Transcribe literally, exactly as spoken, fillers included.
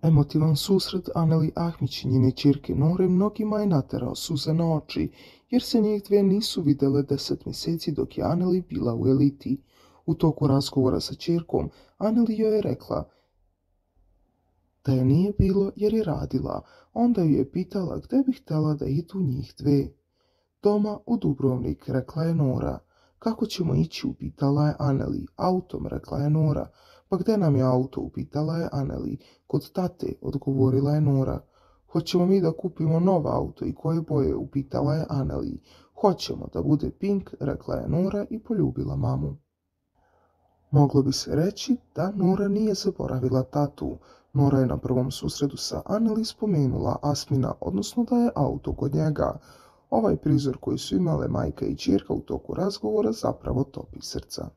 Emotivan susret Aneli Ahmić i njene ćerke Nore mnogima je naterao suze na oči, jer se njih dve nisu videle deset mjeseci dok je Aneli bila u eliti. U toku razgovora sa ćerkom, Aneli joj je rekla da je nije bilo jer je radila. Onda ju je pitala gdje bi htjela da idu njih dve. Doma u Dubrovnik, rekla je Nora. Kako ćemo ići, upitala je Aneli. Autom, rekla je Nora. Pa gdje nam je auto, upitala je Aneli. Kod tate, odgovorila je Nora. Hoćemo mi da kupimo nov auto i koje boje, upitala je Aneli. Hoćemo da bude pink, rekla je Nora i poljubila mamu. Moglo bi se reći da Nora nije zaboravila tatu. Nora je na prvom susretu sa Aneli spomenula Asmina, odnosno da je auto kod njega. Ovaj prizor koji su imale majka i ćerka u toku razgovora zapravo topi srca.